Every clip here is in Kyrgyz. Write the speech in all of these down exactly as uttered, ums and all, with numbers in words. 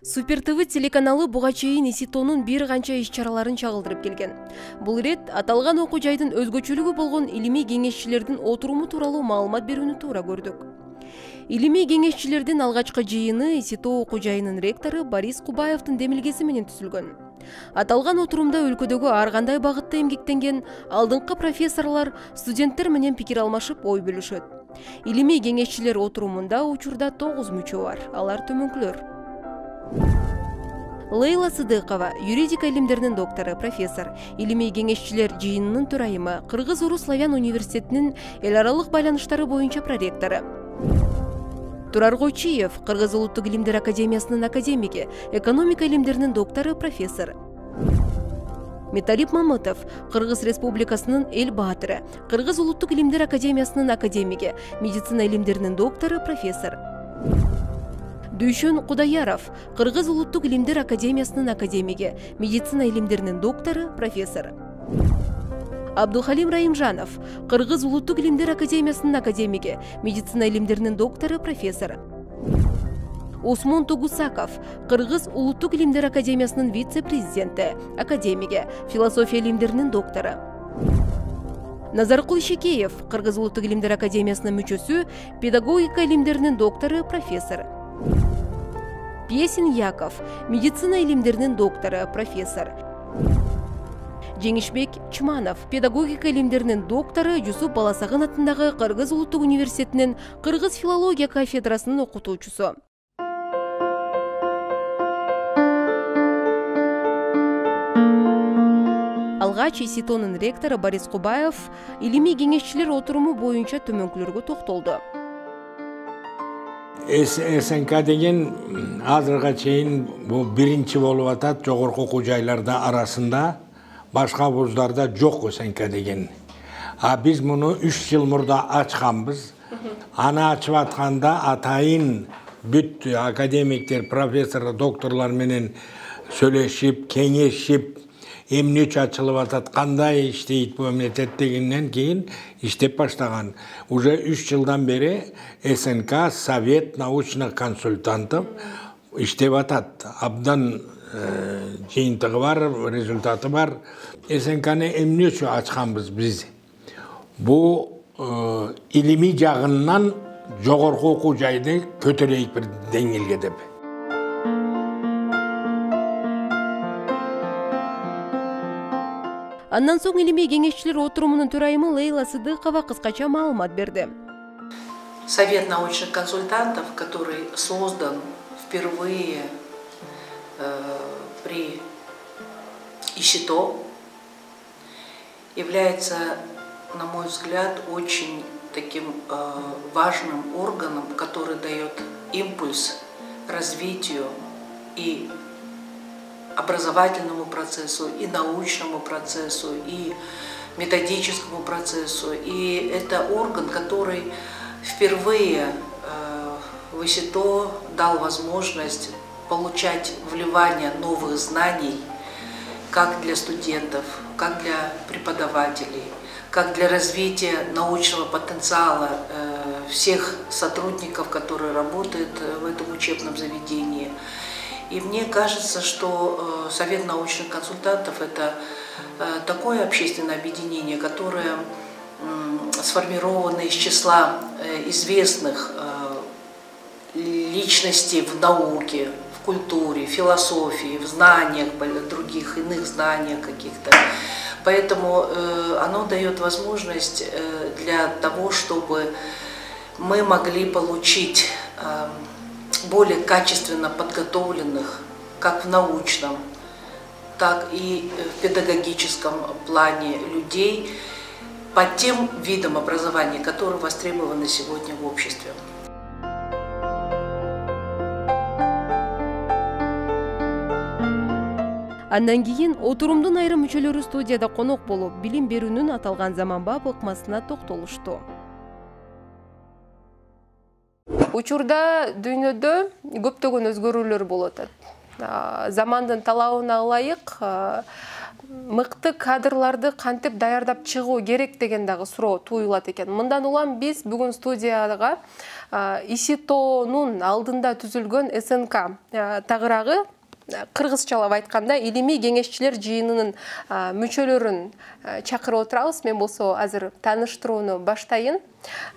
Супер ТВ телеканалы буга чейин ИСИТОнун бир канча иш-чараларын чагылдырып келген. Бул ирет аталган окуу жайдын өзгөчөлүгү болгон илимий кеңешчилердин отуруму тууралуу маалымат берүүнү туура көрдүк. Илимий кеңешчилердин алгачкы жыйыны ИСИТО окуу жайынын ректору Борис Кубаевдин демилгеси менен түзүлгөн. Аталган отурумда өлкөдөгү ар кандай багытта эмгектенген алдыңкы профессорлор студенттер менен пикир алмашып ой бөлүшөт. Илимий кеңешчилер отурумунда учурда тогуз мүчө бар. Алар төмөнкүлөр: Лейла Сыдыкова, юридика илимдеринин доктору, профессор, илимий кеңешчилер жыйынынын төрайымы, Кыргыз-Орус славян университетинин эл аралык байланыштары боюнча проректору. Турар Койчиев, Кыргыз улуттук илимдер академиясынын академиги, экономика илимдеринин доктору, профессор. Металип Мамытов, Кыргыз Республикасынын эл баатыры, Кыргыз улуттук илимдер академиясынын академиги, медицина илимдеринин доктору, профессор. Дүйшөн Кудаяров, Кыргыз улуттук илимдер академиясынын академиги, медицина илимдеринин доктору, профессор. Абдухалим Раимжанов, Кыргыз улуттук илимдер академиясынын академиги, медицина илимдеринин доктору, профессор. Осмон Тугусаков, Кыргыз улуттук илимдер академиясынын вице-президенти, академиги, философия илимдеринин доктору. Назаркул Шекеев, Кыргыз улуттук илимдер академиясынын мүчөсү, педагогика илимдеринин доктору, профессор. Пьесин Яков, медицина илимдеринин доктору, профессор. Жеңишбек Чманов, педагогика илимдеринин доктору, Жусуп Баласагын атындагы Кыргыз улуттук университетинин Кыргыз филология кафедрасынын окутуучусу. Алгач ИСИТОнун ректору Борис Кубаев илимий кеңешчилер отуруму боюнча төмөнкүлөргө токтолду. СНК деген азырга чейин бул биринчи болуп атат жогорку окуу жайларда арасында, башка вуздарда жок СНК деген. А биз муну үч жыл мурда ачканбыз. Аны ачып атканда атайын бүт академиктер, профессор, докторлор менен сүйлөшүп, кеңешип, эмне үчүн ачылып атат, кандай иштейт бул мемлекет дегенден кийин иштеп баштаган. Уже үч жылдан бери СНК, Совет научных консультантов иштеп атат. Абдан жыйынтыгы бар, результаты бар. СНКны эмне үчүн ачканбыз биз? Бул илимий жагынан жогорку окуу жайды көтөрөйт бир деңгээлге деп. Андан соң илимий кеңешчилер отурумунун төрайымы Лейла Сыдыкова кыскача маалымат берди. Совет научных консультантов, который создан впервые э, при ИСИТО, является, на мой взгляд, очень таким э, важным органом, который дает импульс развитию и образовательному процессу, и научному процессу, и методическому процессу. И это орган, который впервые э, в ИСИТО дал возможность получать вливание новых знаний как для студентов, как для преподавателей, как для развития научного потенциала э, всех сотрудников, которые работают в этом учебном заведении. И мне кажется, что Совет научных консультантов – это такое общественное объединение, которое сформировано из числа известных личностей в науке, в культуре, в философии, в знаниях, других иных знаниях каких-то. Поэтому оно дает возможность для того, чтобы мы могли получить более качественно подготовленных, как в научном, так и в педагогическом плане людей по тем видам образования, которые востребованы сегодня в обществе. Андан кийин отурумдун айрым мүчөлөрү студияда конок болуп, билим берүүнүн аталган заманбап ыкмасына токтолушту. Учурда дүйнөдө көптөгөн өзгөрүүлөр болуп атат. Замандын талабына ылайык мыкты кадрларды кантип даярдап чыгуу керек деген дагы суроо туюлат экен. Мындан улам биз бүгүн студияга ИСИТОнун алдында түзүлгөн СНК тагыраагы кыргызчалап айтканда илимий кеңешчилер жыйынынын мүчөлөрүн чакырып отурабыз. Мен болсо азыр тааныштырууну баштайын.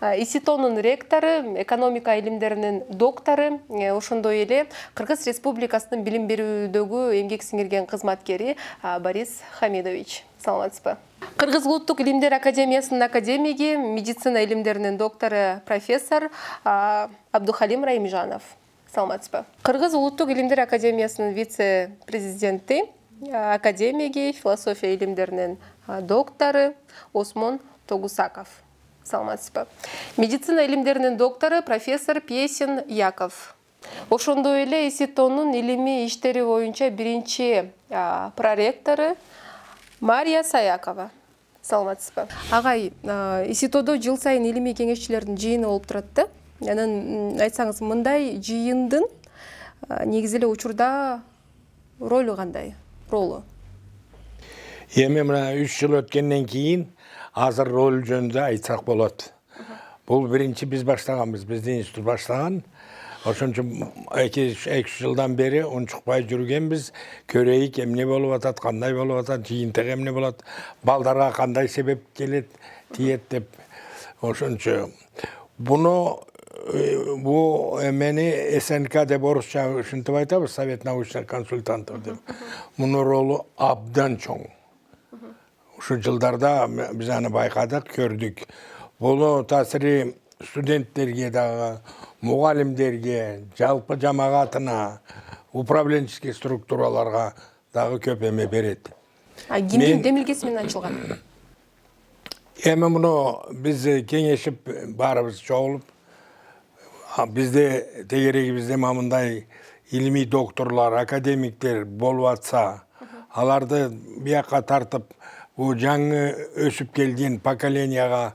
ИСИТОнун ректору, экономика илимдеринин доктору, ошондой эле Кыргыз Республикасынын билим берүүдөгү эмгек сиңирген кызматкери Борис Хамидович. Саламатсызбы? Кыргыз Улуттук илимдер академиясынын академиги, медицина илимдеринин доктору, профессор Абдухалим Раимжанов. Саламатсызбы? Кыргыз Улуттук илимдер академиясынын вице-президенти, академиги, философия илимдеринин доктору Осмон Тогусаков. Саламатсызбы? Медицина илимдеринин доктору, профессор Песин Яков. Ошондой эле ИСИТОнун илимий иштери боюнча биринчи проректору Мария Саякова. Саламатсызбы? Агай, ИСИТОдо жыл сайын илимий кеңешчилердин жыйыны болуп турат да. Анан айтсаңыз, мындай жыйындын негизи эле учурда ролу кандай? Ролу? Эми мына үч жыл өткөндөн кийин азыр рол жөнүндө айтсак болот. Бул биринчи биз баштаганбыз, биздин институт баштаган. Ошон үчүн эки үч жылдан бери унчукпай жүргөнбүз. Көрөйүк эмне болуп атат, кандай болуп атат, жыйынтык эмне болот, балдарга кандай себеп келет, тиет деп. Ошончо буну бу эмени СНК деп орусча ушинтип айтабыз, Совет научных консультантов деп. Мунун ролу абдан чоң. Ушу жылдарда биз аны байкадык, көрдүк. Бул таасири студенттерге дагы, мугалимдерге, жалпы жамаатына, управленческий структураларга дагы көп эме берет. А кимдин демилгеси менен ачылган? Эми муну биз кеңешип баарыбыз чогулуп, бизде тегерегибизде мындай илимий докторлор, академиктер болуп атса, аларды бияка тартып, бу жаңы өсүп келген поколенияга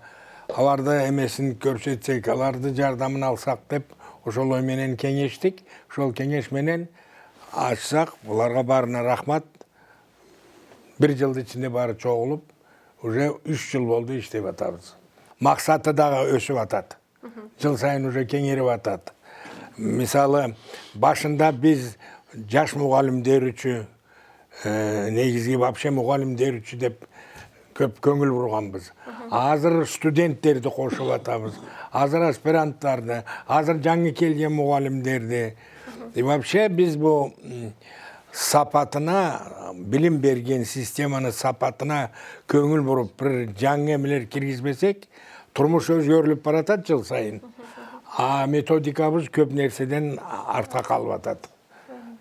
аларды эмесин көрсөтсөк, аларды жардамын алсак деп, ошол ой менен кеңештик. Ошол кеңеш менен ачсак, буларга баарына рахмат. Бир жылдын ичинде баары чогулуп, уже үч жыл болду иштеп атабыз. Максаты дагы өсүп атат. Жыл сайын уже кеңейип атат. Мисалы, башында биз жаш мугалимдер үчүн, негизги вообще мугалимдер үчүн деп көп көңүл бурганбыз. Азыр студенттерди кошуп атабыз. Азыр аспиранттарды, азыр жаңы келген мугалимдерди. И вообще биз бу сапатына, билим берген системанын сапатына көңүл буруп, бир жаңы эмелер киргизбесек, турмуш өзгөрүлүп баратат жыл сайын. А методикабыз көп нерседен артка калып атат.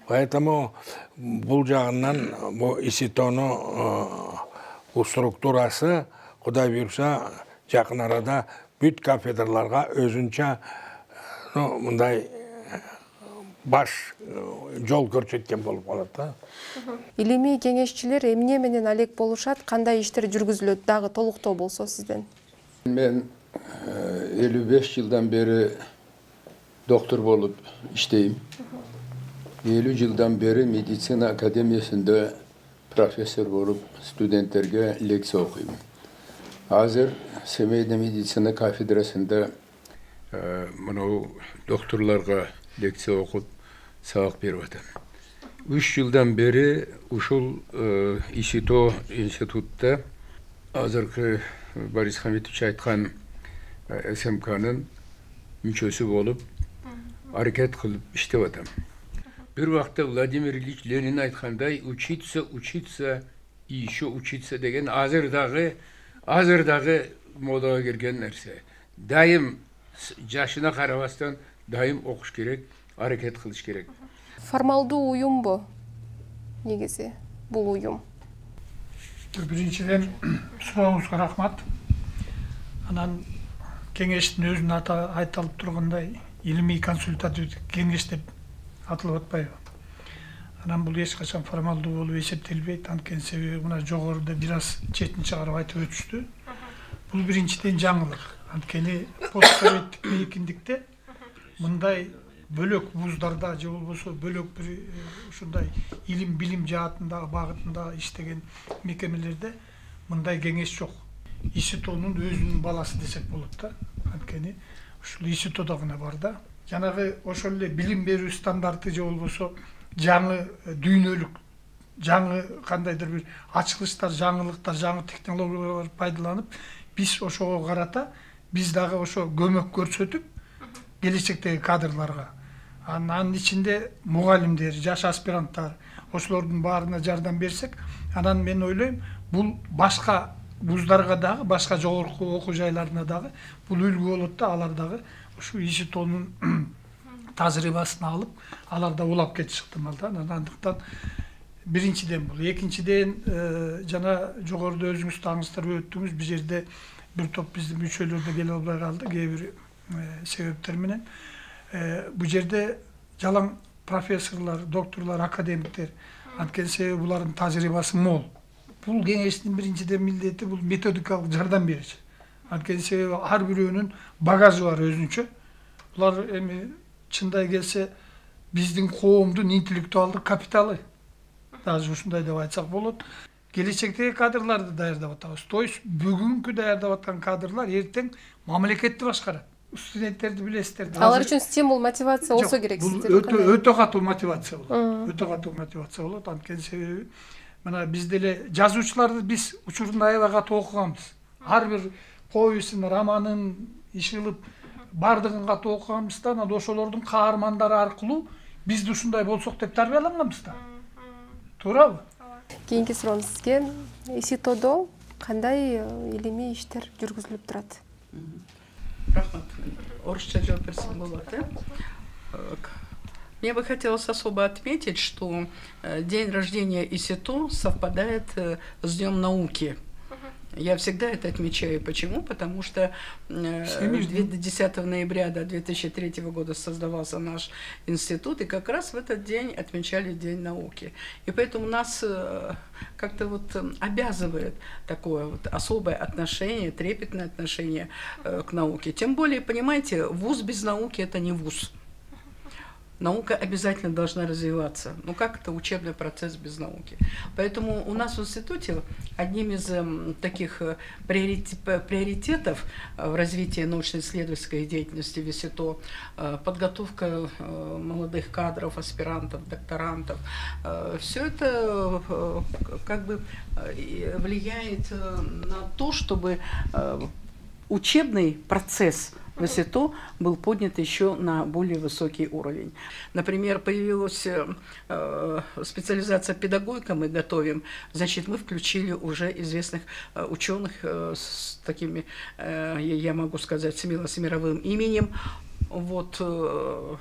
Поэтому бул жагынан бу ИСИТОнун структурасы Кудай буйрса жакын арада бүт кафедраларга өзүнчө мындай баш жол көрсөткөн болуп калат да. Илимий кеңешчилер эмне менен алек болушат, кандай иштер жүргүзүлөт, дагы толуктоо болсо сизден? Мен элүү беш жылдан бери доктор болуп иштейм. элүү жылдан бери медицина академиясында профессор болуп студенттерге лекция окуйм. Азыр Семейде медицина кафедрасында мына докторлорго лекция окуп сабак берип атам. үч жылдан бери ушул ИСИТО институтта азыркы Борис Хамидович айткан СМКнын мүчөсү болуп аракет кылып иштеп атам. Бир вакытта Владимир Ильич Ленин айткандай, учиться, учиться и еще учиться деген азыр дагы азыр дагы модага келген нерсе. Дайым жашына карабастан дайым окуш керек, аракет кылыш керек. Формалдуу уюмбу негизи бул уюм? Биринчиден сурооңузга рахмат. Анан кеңештин өзүнүн аты айтылып тургандай, илимий консультативдик кеңеш деп атылып атпайбы? Анан бул эч качан формалдуу болуп эсептелбейт, анткени себеби мына жогоруда бир аз четин чыгарып айтып өтүштү. Бул биринчиден жаңылык. Анткени постсоветтик мейкиндикте мындай бөлөк вуздарда же болбосо бөлөк бир ушундай илим билим жаатындагы багытында иштеген мекемелерде мындай кеңеш жок. ИСИТОнун өзүнүн баласы десек болот да. Анткени ушул ИСИТОдо гана бар да. Жанагы ошол эле билим берүү стандарты же болбосо жаңы дүйнөлүк, жаңы кандайдыр бир ачылыштар, жаңылыктар, жаңы технологиялар пайдаланып, биз ошого карата биз дагы ошо көмөк көрсөтүп, келечектеги кадрларга, анын ичинде мугалимдер, жаш аспиранттар, ошолордун баарына жардам берсек, анан мен ойлойм, бул башка вуздарга дагы, башка жогорку окуу жайларына дагы бул үлгү болот да, алар дагы ушу ИСИТОнун тажрыйбасын алып, алар да улап кетиши ыктымал да. Андыктан биринчиден бул, экинчиден жана жогоруда өзүңүз таңыздар өттүңүз, бул жерде бир топ биздин мүчөлөр да келе албай калды, кээ бир себептер менен. Бул жерде жалаң профессорлор, докторлор, академиктер, анткени себеби булардын тажрыйбасы мол. Бул кеңештин биринчиден милдети бул методикалык жардам бериш. Анткени себеби ар бирөөнүн багажы бар өзүнчө. Булар эми чындай келсе биздин коомдун интеллектуалдык капиталы. Даже ушундай деп айтсак болот. Келечектеги кадрларды даярдап атабыз. То есть бүгүнкү даярдап аткан кадрлар эртең мамлекетти башкарат. Студенттерди билесиздер. Алар үчүн стимул, мотивация болсо керек сиздер. Өтө өтө катуу мотивация болот. Өтө катуу мотивация болот. Анткени себеби мына биз деле жазуучуларды биз учурунда аябай катуу окуганбыз. Ар бир повестин, романын ишылып бардыгын катуу окуганбыз да, анан ошолордун каармандары аркылуу биз ушундай болсок деп тарбияланганбыз да. Туурабы? Кийинки суроону сизге. ИСИТОдо кандай илимий иштер жүргүзүлүп турат? Рахмат. Орысча жооп берсем болот, э? Мне бы хотелось особо отметить, что день рождения ИСИТО совпадает с Днем науки. Я всегда это отмечаю. Почему? Потому что десятого ноября две тысячи третьего года создавался наш институт, и как раз в этот день отмечали День науки. И поэтому нас как-то вот обязывает такое вот особое отношение, трепетное отношение к науке. Тем более, понимаете, вуз без науки – это не вуз. Наука обязательно должна развиваться. Ну как это учебный процесс без науки? Поэтому у нас в институте одним из э, таких приоритетов в развитии научно-исследовательской деятельности в ИСИТО э, подготовка э, молодых кадров, аспирантов, докторантов. Э, все это э, как бы э, влияет э, на то, чтобы э, учебный процесс в ИСИТО был поднят еще на более высокий уровень. Например, появилась э, специализация педагогика, мы готовим, значит, мы включили уже известных э, ученых э, с такими, э, я могу сказать, смело с мировым именем. Вот э,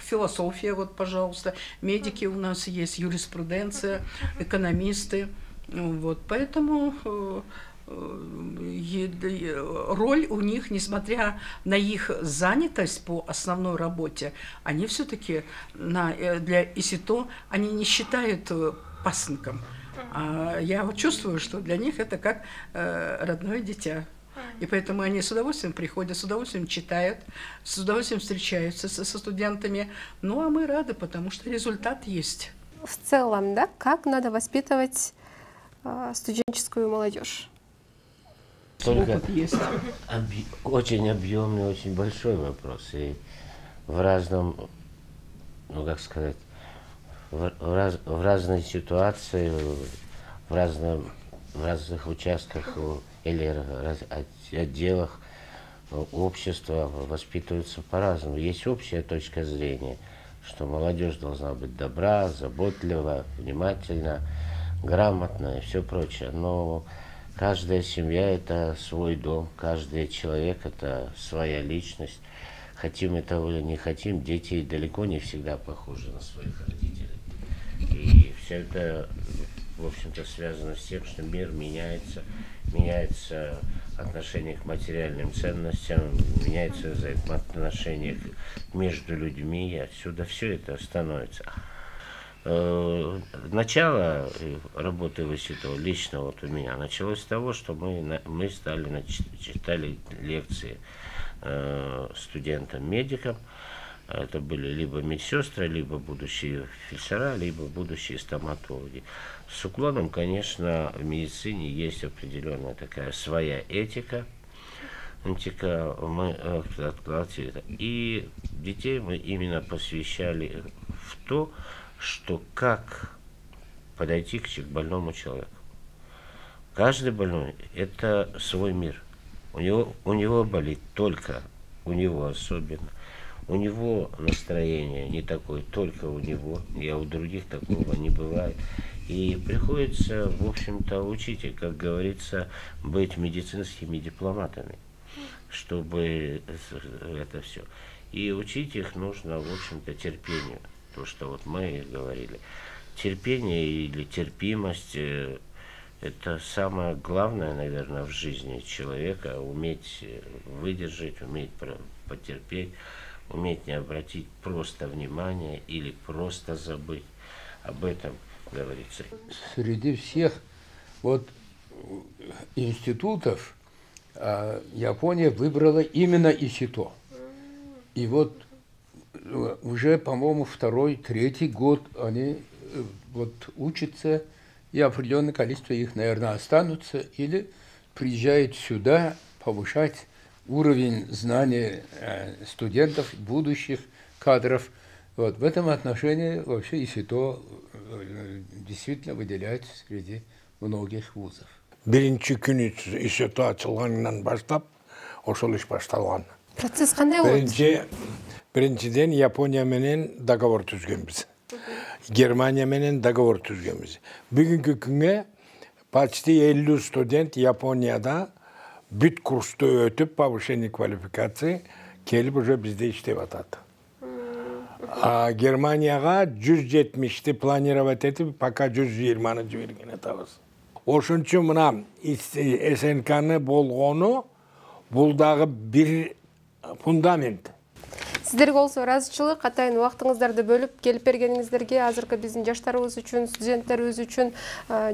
философия, вот, пожалуйста, медики у нас есть, юриспруденция, экономисты. Вот, поэтому э, роль у них, несмотря на их занятость по основной работе, они все-таки для ИСИТО они не считают пасынком. А я вот чувствую, что для них это как родное дитя. И поэтому они с удовольствием приходят, с удовольствием читают, с удовольствием встречаются со, со студентами. Ну а мы рады, потому что результат есть. В целом, да, как надо воспитывать э, студенческую молодежь? Только объ... очень объемный, очень большой вопрос. И в разном, ну как сказать, в, в, раз, в разной ситуации, в, разном, в разных участках или раз, отделах общества воспитываются по-разному. Есть общая точка зрения, что молодежь должна быть добра, заботлива, внимательна, грамотна и все прочее. Но каждая семья – это свой дом, каждый человек – это своя личность. Хотим этого или не хотим, дети далеко не всегда похожи на своих родителей. И все это, в общем-то, связано с тем, что мир меняется, меняется отношение к материальным ценностям, меняется взаимоотношения между людьми, и отсюда все это становится. Начало работы в ИСИТО лично вот у меня началось с того, что мы, мы стали читали лекции студентам-медикам, Это были либо медсестры, либо будущие фельдшера, либо будущие стоматологи. С уклоном, конечно, в медицине есть определенная такая своя этика. Этика мы и детей мы именно посвящали в то, что как подойти к больному человеку. Каждый больной – это свой мир. У него, у него болит только, у него особенно. У него настроение не такое, только у него, и у других такого не бывает. И приходится, в общем-то, учить, как говорится, быть медицинскими дипломатами, чтобы это все. И учить их нужно, в общем-то, терпению. То, что вот мы говорили. Терпение или терпимость – это самое главное, наверное, в жизни человека. Уметь выдержать, уметь потерпеть. Уметь не обратить просто внимание или просто забыть. Об этом говорится. Среди всех вот институтов Япония выбрала именно ИСИТО. И вот уже, по-моему, второй, третий год они вот учатся, и определенное количество их, наверное, останутся или приезжают сюда повышать уровень знаний студентов, будущих кадров. Вот. В этом отношении вообще ИСИТО действительно выделяется среди многих вузов. Биринчи күнү ИСИТО ачылганынан баштап ошол иш башталган. Процесс кандай болду? Биринчи биринчиден Япония менен договор түзгөнбүз. Германия менен договор түзгөнбүз. Бүгүнкү күнгө почти элүү студент Японияда бүт курсту өтүп, повышение квалификации келип уже бизде иштеп атат. А Германияга жүз жетимишти планировать этип, пока жүз жыйырманы жиберген атабыз. Ошон үчүн мына СНКны болгону бул дагы бир фундамент. Сиздерге болсо ыраазычылык, атайын убактыңыздарды бөлүп келип бергениңиздерге, азыркы биздин жаштарыбыз үчүн, студенттерибиз үчүн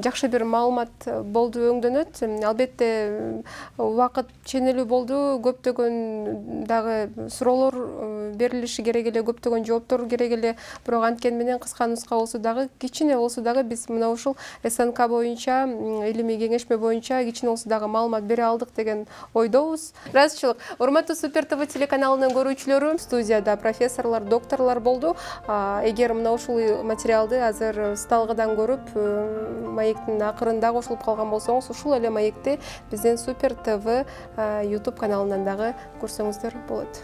жакшы бир маалымат болду, өңдөнөт. Албетте убакыт ченелүү болду, көптөгөн дагы суроолор берилиши керек эле, көптөгөн жооптор керек эле. Бирок анткени менен кыска нуска болсо дагы, кичине болсо дагы биз мына ушул СНК боюнча, илимий кеңешме боюнча кичине болсо дагы маалымат бере алдык деген ойдобуз. Ыраазычылык. Урматтуу Супер ТВ телеканалынын көрүүчүлөрү, студияда профессорлор, докторлор болду. Эгер мына ушул материалды азыр сталгыдан көрүп, маектин акырында кошулуп калган болсоңуз, ушул эле маекти биздин Супер ТВ YouTube каналынан дагы көрсөңүздөр болот.